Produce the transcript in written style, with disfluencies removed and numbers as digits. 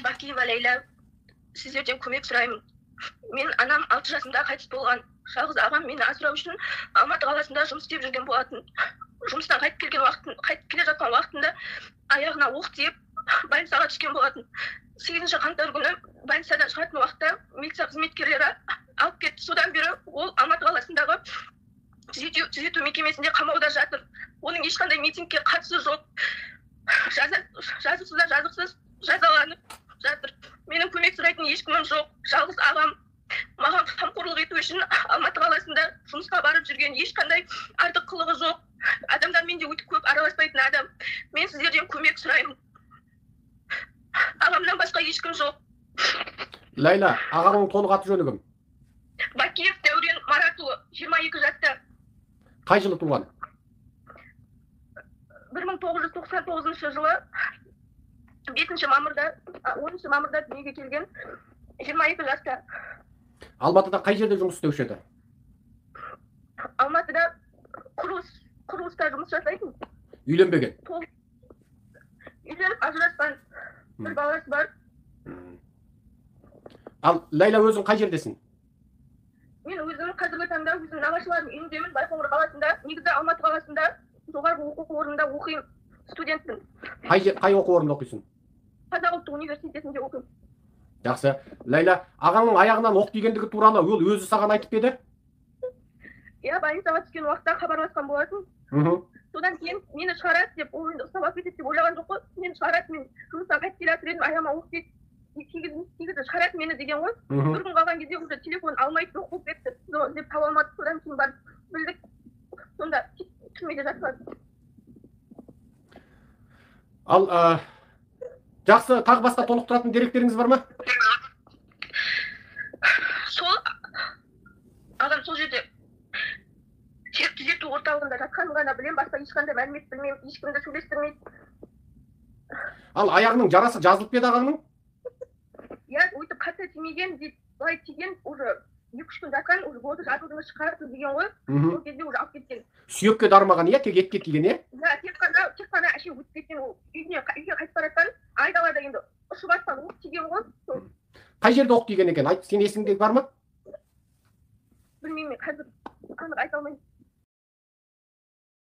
Мен Бакиева Лейла, сиздерден көмек сураймын. Мен анам 6 жасымда кайтыс болгон. Жалгыз агам мени асыроо үчүн Алматы каласында жумуш иштеп жүргөн болатын. Жумуштан кайтып келе жаткан убактында аягына ок тиеп, больницага түшкөн болатын. 8-кантар күнү больницадан чыгатын убакта милиция кызметкерлери алып кетти. Содан бери ол Алматы каласындагы түзөтүү мекемесинде камауда жатыр. Onun эч кандай митингге катысы жок. Жазыксыз жазаланып жатыр. Менин көмек сурайтын эч кимим жок. Жалгыз агам мага камкорлук этүү үчүн Алматы каласында жумушка барып жүргөн, эч кандай артык кылыгы жок. Адамдар менде өтүп көп араласпайтын адам. Мен сиздерден көмек сураймын. Агамдан башка эч ким жок. Лайла, агаңдын толук аты жөнү ким? Бакиев Дәурен Маратұлы, 22 жашта. Кай жылы туулган? 1999 жылы 5 мамырда, 10 мамырда дүниеге келген, 22 жашта. Алматыда кай жерде жумуш иштешет? Алматыда курулуста жумуш жасайтын. Үйленбеген? Үйленип ажыраскан. Bir баласы бар. Ал Лайла өзүң кай жердесиң? Мен өзүм казыркы таңда өзүм нагашылардын үйүндөмүн, Байкоңур каласында, негизи Алматы каласында жоғарғы окуу орнунда окуйм, студентмин. Кай окуу орунда окуйсуң? Казак Улуттук университетинде окуйм. Жакшы. Лайла, агаңдын аягынан ок тийгендиги тууралуу ол өзү сага айтып берди? Больницага түшкөн убакта кабарлашкан болатын. Содан кийин мени чыгарат деп, ол менде сабак кетет деп ойлаган жокпу. Мени чыгарат, мен жумуштан кайтып келе жатыр едим, аягыма ок тийип, тийгизип чыгарат мени деген го. Bir күн калган кезде уже телефон алмайт, жок болуп кетти. Деп таба алмадык, содан кийин барып билдик. Сонда түрмөдө жатат. Ал жакшы, так башка толуктуратын деректериңиз барбы? Сол адам сол жерде түзөтүү орталыгында жатканын гана билем, башка эч кандай маалымат билмейм, эч кимди сүйлөштүрмөйт. Ал аягынын жарасы жазылып берди агаңдын? Өйтүп ката тиймеген деп, былай тийген уже 2-3 күн жаткан, уже болду, жазылдыңыз чыгарып деген го. Сол кезде уже алып кеткен. Сүйөккө дармаган, тек этке тийген, тек кана ашы өтүп кеткен, ол үйгө кайтып бараткан, айдалада енді ушуп аткан ок тийген го. Кай жерде ок тийген экен? Айт, сенин эсиңде барбы?